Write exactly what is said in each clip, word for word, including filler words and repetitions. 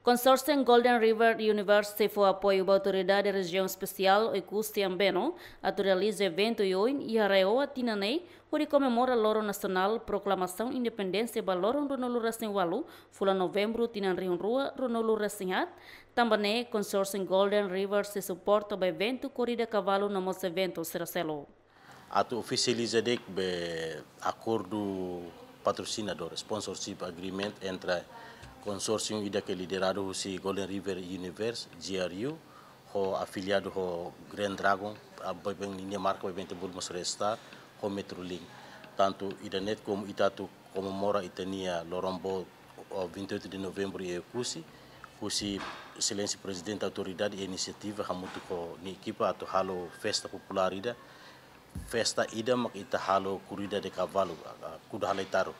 Konsórsiu Golden River University fó apoiu ba Autoridade Rejiaun Espesiál Oekusi Ambeno atu realiza eventu oioin iha RAEOA tinan ne'e, hodi komemora Loron Nasionál Proklamasaun Independénsia ba loron ruanulu-resin-ualu, fulan Novembru tinan rihun rua ruanulu-resin-haat. Tanba ne'e, Konsórsiu Golden River sei suporta ba eventu korrida kavalu no mós eventu sira seluk. Atu ofisializa de'it be akordu patrosinadór, sponsorship agreement, entre konsórsiu ida ke lideradu husi Golden River Universe, G R U, ho afiliadu ho Grand Dragon, a, ba iha ninia marka ba iha bente bulu mós Red Star, ho Metrolink. Tantu ida-ne'e komu ita atu komemora ita-nia loron boot, o, vinte e oito de Novembro iha Oekusi, husi Exelénsia Prezidente Autoridade inisiativa hamutuk ho nia ekipa atu halo festa populár ida, festa ida mak ita halo korrida de kavalu, a, a, kuda halai taru.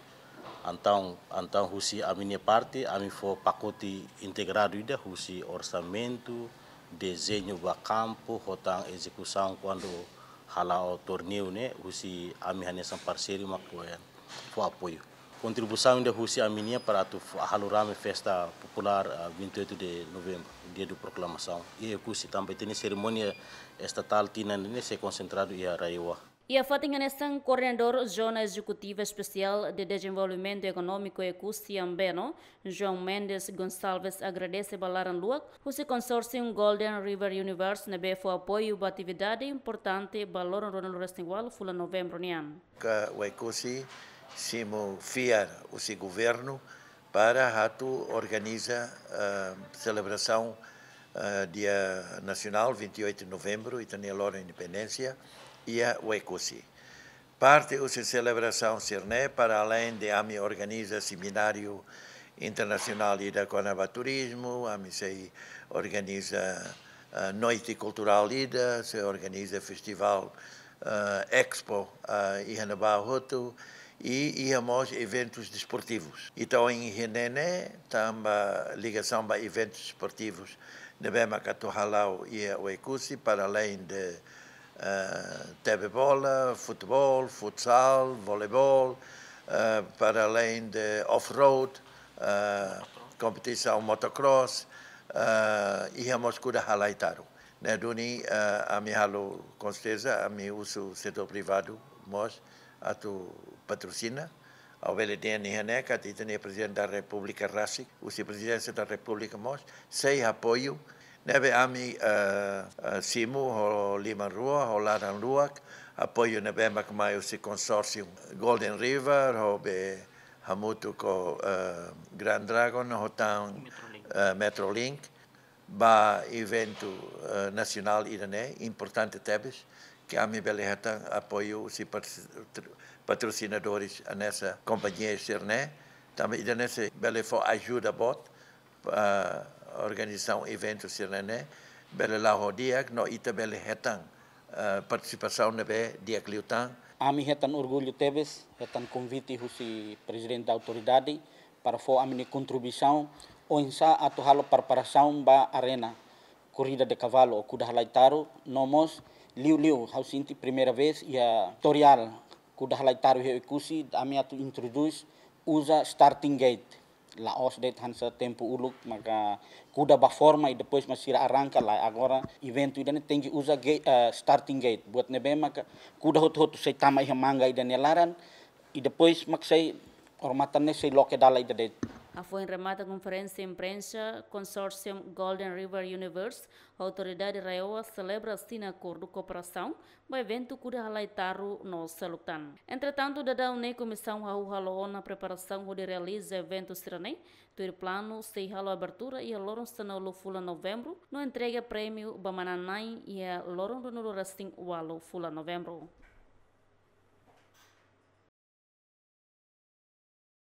Entaun, entaun husi ami-nia parte, ami fó pakote integradu ida husi orsamentu, dezeñu ba kampu, ho tan ezekusaun kuandu hala'o torneiu ne'e, husi ami hanesan parseiru mak fó apoiu. Kontribuisaun ida husi ami-nian para atu fó, halo rame festa populár, ah, vinte e oito de Novembro, dia do Proclamação. I Oekusi tanba ita-nia serimónia estatál tinan ne'e sei konsentradu iha RAEOA. Iha fatin hanesan, Koordenadór Zona Ezekutiva Espesiál de Dezenvolvimentu Ekonómiku Oekusi Ambeno, João Mendes Gonçalves, agradese ba laran luak husi konsórsiu Golden River Universe ne'ebé fó apoiu ba atividade importante ba loron ruanulu-resin-ualu fulan Novembru nian. Ka Oekusi simu fiar husi governu para atu organiza, eh, selebrasaun, eh, Dia Nasionál, vinte e oito de Novembro, ita-nia Loron Independénsia, iha Oekusi. Parte husi selebrasaun sira-ne'e, para alein de ami organiza semináriu internasionál ida kona-ba turizmu, ami sei organiza, eh, noite kulturál ida, sei organiza festivál, eh, expo, eh, iha ne'ebá hotu, i iha mós eventus desportivus. Ita ohin iha ne'e ne'e, tanba ligasaun ba eventus desportivus ne'ebé mak atu hala'o iha Oekusi, para alein de, eh, tebe bola, futeból, futsal, voleibol, eh, para alein de off-road, eh, kompetisaun motocross, eh, iha mós kuda halai taru. Ne'e duni, eh, ami halo, com certeza, ami husu setór privadu mós atu patrosina. Ha'u bele dehan iha ne'e katak ita-nia Prezidente da Repúblika rasik, husi Prezidénsia da Repúblika mós sei apoiu. Ne'ebé ami, eh, eh, simu ho liman rua, ho laran luak, apoiu ne'ebé mak mai husi konsórsiu Golden River, ho be hamutuk ho, eh, Grand Dragon, ho tan, Metrolink, eh, Metrolink, ba eventu, eh, nasionál ida-ne'e, importante tebes, ke ami bele hetan apoiu husi patro-, patrosinadores hanesan kompañia sira-ne'e, tanba ida-ne'e sei bele fó ajuda boot, eh, organizasaun eventu sira-ne'e, bele la'o di'ak, no ita bele hetan, eh, partisipasaun ne'ebé di'ak liután. Ami hetan orgullu tebes, hetan konvite husi Prezidente da Autoridade, para fó ami-nia kontribuisaun, oinsá atu halo preparasaun ba arena, korrida de kavalu, ou kuda halai taru, no mós liuliu, ha'u sente primeira vez iha istória, kuda halai taru iha Oekusi, ami atu introdús, uza starting gate. La'ós de'it hanesan tempu uluk, maka kuda ba forma i depois mak sira arranka, lae, agora eventu ida-ne'e tenke uza ge-, eh, starting gate. Buat ne'ebé maka kuda hotu-hotu sei tama iha manga ida-ne'e laran, i depois mak sei, odamatan ne'e sei loke dala ida de'it. Hafoin remata konferénsia imprensa, konsórsiu Golden River Universe, Autoridade RAEOA selebra asina akordu kooperasaun ba eventu kuda halai taru no seluk tan. Entretantu, daudaun ne'e komisaun hahú halo ona preparasaun hodi realiza eventu sira-ne'e, tuir planu sei halo abertura iha loron sanulu fulan Novembru, no entrega prémiu ba manán-na'in iha loron ruanulu-resin-ualu fulan Novembru.